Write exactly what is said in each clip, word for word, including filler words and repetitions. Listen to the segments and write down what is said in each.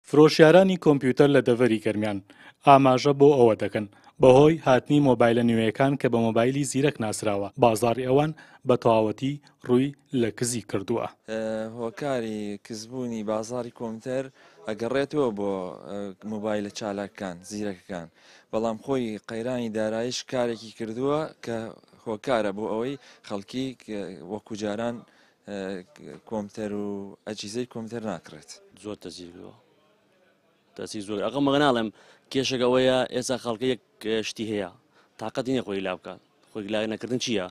فرۆشیارانی کۆمپیوتەر لە دەڤەری گەرمیان ئاماژە بۆ ئەوە دەکەن، بەهۆی هاتنی مۆبایلە نوێیەکان کە بە مۆبایلی زیرەک ناسراوە، بازاڕی ئەوان بە تەواوەتی ڕووی لە کزی کردووە. هۆکاری کزبوونی بازاڕی کۆمپیوتەر ئەگەڕێتەوە بۆ مۆبایلە چالاکەکان، زیرەکەکان، بەڵام خۆی قەیرانی داراییش کارێکی کردووە کە هۆکارە بۆ ئەوەی خەڵکی وەکو جاران کۆمپیوتەر و ئەجهیزەی کۆمپیوتەر ناکڕێت. زۆر تەسیر کردووە، تەسیر زۆر. ئەقە مەگە ناڵێم کێشەکە ئەوەیە ئێستا خەڵکە یەک شتی هەیە، تااقەتی نییە خۆی لا بکات. خۆی لا نەکردن چییە؟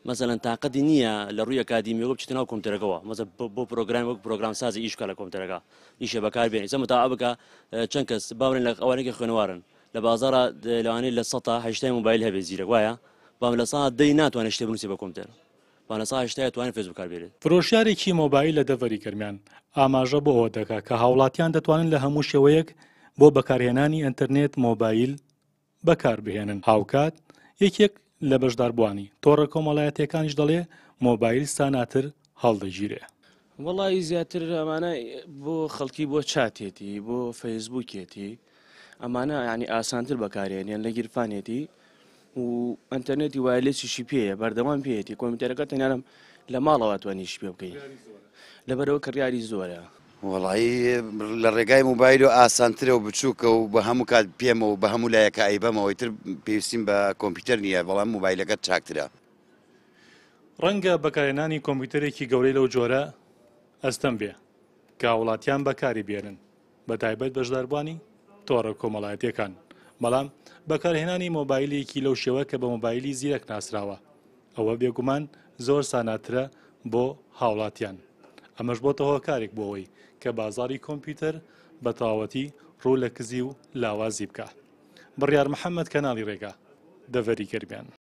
مەسەلەن تااقەتی نییە لە ڕووی ئەکادیمیەوە بچێتە ناو کۆمپیوتەرەکەوە، مەسەلەن بۆ پرۆگرام وەک پرۆگرام سازی ئیش بکە لە کۆمپیوتەرەکە، ئیشە بەکار بێنێ. ئێستا متابعە بکە چەند کەس باوەڕێن لە ئەوانەی کە خوێنەوارن لە بازاڕە لەوانەیە لە سەدا هەشتای مۆبایل هەبێت زیرەک وایە، بەڵام لە سەدا دەی ناتوانێت شتێ بنووسێ بە کۆمپیوتەر، بەڵام لە سەدا هەشتای توانێت فێسبوک بەکار بێنێت. فرۆشیارێکی مۆبایل لە دەڤەری گەرمیان ئاماژە بۆ ئەوە دەکا کە هاوڵاتیان دەتوانن لە هەموو شێوەیەک بۆ بەکارهێنانی ئینتەرنێت مۆبایل بەکار بهێنن. هاوکات یەکێک لە بەشداربووانی تۆڕە کۆمەڵایەتیەکانیش دەڵێ مۆبایل ساناتر هەڵدەگیرێ. وەڵی زیاتر ئەمانە بۆ خەڵکی بۆ چاتێتی، بۆ فەیسبوکێتی، ئەمانە یعنی ئاسانتر بەکارێنیان لە گیرفانێتی و ئەتەرنێتی wireless یشی پێیە، بەردەوام پێیەتی. کۆمپیوتەرەکە تەنیا لە ماڵەوە توانیش پێ بکەی، لەبەرەوە کڕیاری زۆرە. وەڵی لە ڕێگای مۆبایل و ئاسانترە و بچووکە و بە هەموو کات پێمە و بە هەموو لایەکە ئەیبەمەوەی تر پێویستیم بە کۆمپیوتەر نییە، بەڵام مۆبایلەکە چاکترە. ڕەنگە بەکارهێنانی کۆمپیوتەرێکی گەورەی لەو جۆرە ئەستەم بێ کە هاوڵاتیان بەکاری بێنن، بە تایبەت بەشداربووانی تۆڕە کۆمەڵایەتیەکان، بەڵام بەکارهێنانی مۆبایلێکی لەو شێوە کە بە مۆبایلی زیرەک ناسراوە ئەوە بێگومان زۆر ساناترە بۆ هاوڵاتیان. ئەمەش بۆتە هۆکارێک بۆ ئەوەی کە بازاری کۆمپیوتەر بە تەواوەتی ڕوو لە کزی و لاوازی بکە. بڕیار محەممەد، کەناڵی ڕێگا، دەڤەری گەرمیان.